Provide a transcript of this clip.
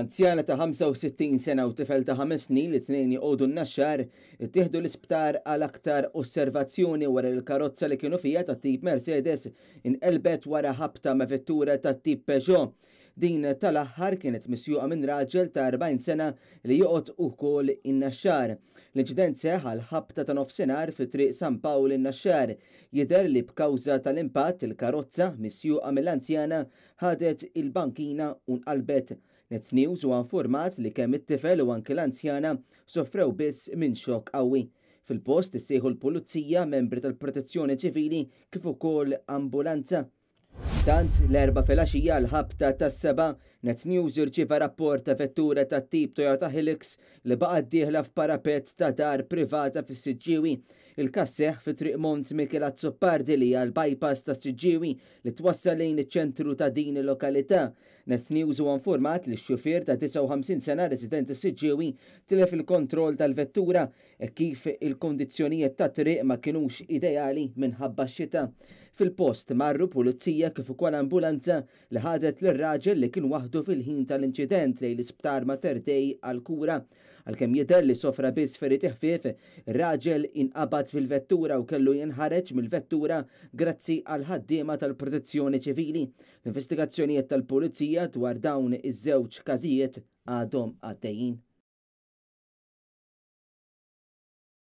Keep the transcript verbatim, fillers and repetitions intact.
Anzjana ta' ħamsa u sittin sena u tifel ta' ħames snin li tnejn joqogħdu n-Naxxar ittieħdu l-isptar għal aktar osservazzjoni wara li l-karozza li kienu fiha ta' tip Mercedes inqelbet wara ħabta ma' vettura ta' tip Peugeot. Din tal-aħħar kienet misjuqa minn raġel ta' erbgħin sena li joqgħod ukoll in-Naxxar. L-inċident seħħ għal ħabta ta' nofsinhar fi triq San Pawl in-Naxxar. Jidher li b'kawża tal-impatt il-karozza misjuqa mill-anzjana ħadet il-bankina u nqalbet. Net News huwa informat li kemm it-tifel u anki l-anzjana soffrew biss minn xokk qawwi. Fil-post issejħu l-pulizija, membri tal-protezzjoni ċivili kif ukoll ambulanza. Tant l-Erbgħa filgħaxija l-ħabta tas-seba, Net News irċieva rapport ta' vettura tat tip Toyota Hilux li baqgħet dieħla f'parapet ta' dar privata fis-Siġġiewi. Il-każ seħħ fi triq Mons Michel Azzopardi li hija l-bypass ta' Siġġiewi li twassal lejn iċ-ċentru ta' din il-lokalità. Net News huwa informat li x-xufier ta' disgħa u ħamsin sena residenti Siġġiewi tilef il-kontroll tal-vettura e kif il-kondizzjonijiet ta' triq ma kinux ideali minħabba x-xita. Fil-post marru pulizija kif ukoll ambulanza li ħadet lir-raġel li kien waħdu fil-ħin tal-inċident lejn l-isptar Mater Dei għal-kura. Għalkemm jidher li sofra biss feriti ħfief, ir-raġel inqabad fil-vettura u kellu jinħareġ mill-vettura grazzi għal ħaddiema tal-protezzjoni ċivili. L-investigazzjonijiet tal-pulizija dwar dawn iż-żewġ każijiet għadhom għaddejjin.